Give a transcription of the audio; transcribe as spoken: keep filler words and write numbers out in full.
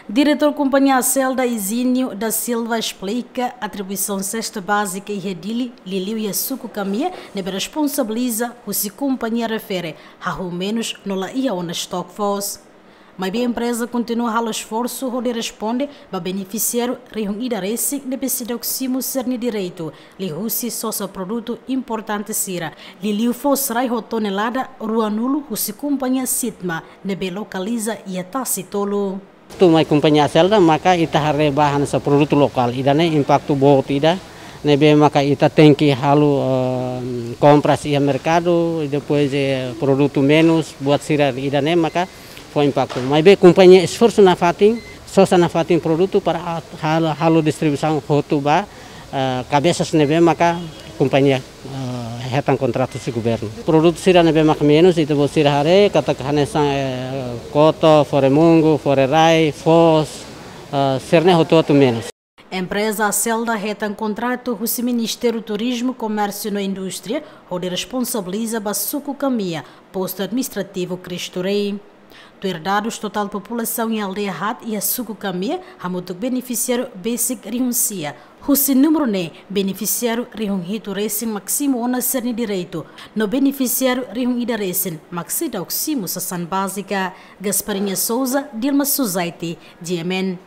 Diretór Kompañia Acelda, Izinio da Silva, esplika atribuisaun sesta bázika iha Dili, liuliu iha suku Kamia, ne'ebé responsabiliza husi kompañia refere hahú menus no la iha ona estoke foos. Maibé empreza kontinua halo esforsu hodi responde ba benefisiáriu rihun ida resin ne'ebé seidauk simu sira-nia direitu liuhusi sosa produtu importante sira, liuliu foos rai ho tonelada ruanulu husi kompañia Sitma ne'ebé lokaliza iha Tasi Tolu. Tu mai kompañia Acelda maka ita haree ba hanesan produtu lokál, ida-ne'e impaktu boot ida, ne'ebé maka ita tenke halo, eh, kompras iha merkadu, depois, eh, produtu menus buat sira, ida-ne'e maka fó impaktu. Maibé kompañia esforsu nafatin, sosa nafatin produtu para a-, halo, halo distribuisaun hotu ba, eh, kabesas ne'ebé maka kompañia, eh, hetan kontratu husi governu. Produtu sira ne'ebé maka menus, ita-boot sira haree katak hanesan, eh, koto, fore-mungu, fore-rai, foos, eh, sira-ne'e hotu-hotu menus. Empreza Acelda hetan kontratu husi Ministériu Turizmu, Komérsiu no Indústria, hodi responsabiliza ba suku Kamia, postu administrativu Cristo Rei. Tuir dadus, totál populasaun iha aldeia haat iha suku Kamia hamutuk benefisiáriu besik rihun sia. Husi númeru ne'e, benefisiáriu rihun hitu resin mak simu ona sira-nia direitu, no benefisiáriu rihun ida resin mak seidauk simu sasán bázika. Gasparinha Souza, Dilma Suzaiti, G M N.